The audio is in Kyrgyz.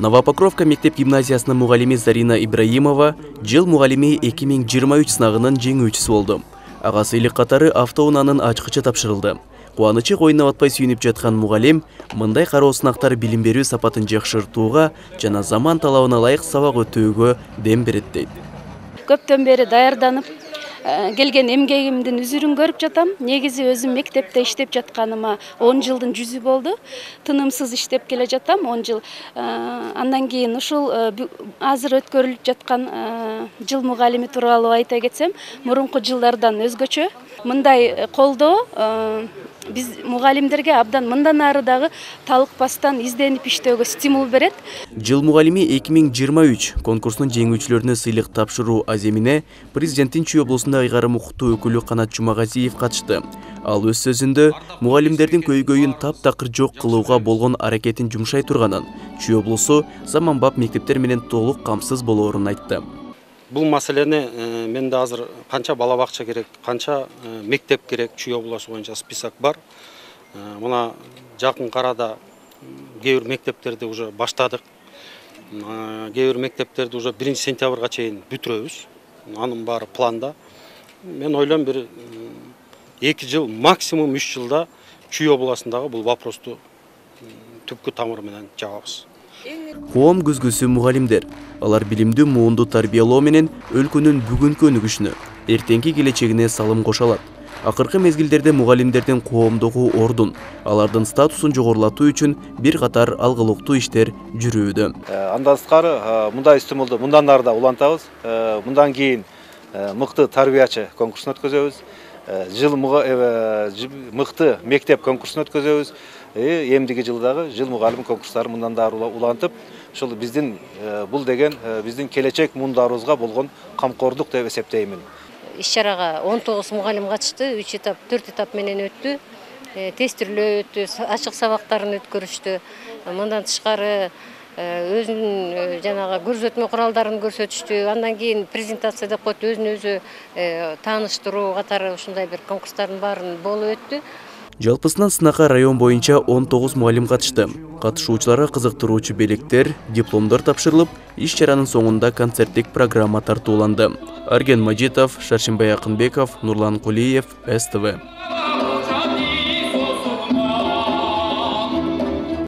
Новопокровка мектеп гимназиясынын мугалими Зарина Ибраимова жыл мугалими 2023 сынагынын жеңүүчүсү болду. Ага сыйлык катары автоунаанын ачкычы тапшырылды. Кубанычы койуна батпай сүйүнүп жаткан мугалим мындай кароо сынактар билим берүү сапатын жакшыртууга жана заман талабына ылайык сабак өтүүгө дем берет дейт. Көптөн бери даярданып келген эмгегимдин үзүрүн көрүп жатам. Негизи өзүм мектепте иштеп жатканыма 10 жылдын жүзү болду. Тынымсыз иштеп келе жатам 10 жыл. Андан кийин ушул азыр өткөрүлүп жаткан жыл мугалими тууралуу айта кетсем, мурунку жылдардан өзгөчө. Мындай колдоо биз мугалимдерге абдан мындан ары дагы талыкпастан изденип иштөөгө стимул берет. Жыл мугалими 2023 конкурсунун жеңүүчүлөрүнө сыйлык тапшыруу аземине президенттин Чүй облусунда ыйгарым укуктуу өкүлү Канат Жумагазиев катышты. Ал өз сөзүндө мугалимдердин көйгөйүн таптакыр жок кылууга болгон аракетин жумшай турганын, Чүй облусу заманбап мектептер менен толук камсыз болоорун айтты. Бул маселени менде азыр канча бала бакча керек, канча мектеп керек, Чүй облусу боюнча список бар. Мына жакын арада кээ бир мектептерди уже баштадык. Кээ бир мектептерди уже 1 сентябрга чейин бүтүрөбүз. Анын баары планда. Мен ойлойм бир 2 жыл, максимум 3 жылда Чүй облусундагы бул вопросту түпкү тамыры менен жабабыз. Коом көзгүсү мугалимдер. Алар билимдүү муунду тарбиялоо менен өлкөнүн бүгүнкү өнүгүшүнө, эртеңки келечегине салым кошо алат. Акыркы мезгилдерде мугалимдердин коомдогу ордун, алардын статусун жогорулатуу үчүн бир катар алгылыктуу иштер жүрүүдө. Андан сырткары мындай стимулду мындан ары да улантабыз. Мындан кийин мыкты тарбиячы конкурсун өткөзөбүз. Жыл мыкты мектеп конкурсун өткөзөбүз. Эмдиги жылдагы жыл мугалим конкурстары мындан да улантып, ушул биздин бул деген биздин келечек муундарыбызга болгон камкордук деп эсептеймин. Иш-чарага 19 мугалим катышты, 3 этап, 4 этап менен өттү. Тестирлөө өттү, ачык сабактарын өткөрүштү. Мындан тышкары өзүнүн жанагы көрсөтмө куралдарын көрсөтүштү. Андан кийин презентация деп коет, өзүн өзү тааныштыруу катары ушундай бир конкурстардын баарын болуп өттү. Жалпысынан сынакка район боюнча 19 мугалим катышты. Катышуучуларга кызыктыруучу белектер, дипломдор тапшырылып, иш-чаранын соңунда концерттик программа тартууланды. Арген Мажитов, Шаршимбай Акынбеков, Нурлан Кулиев, СТВ.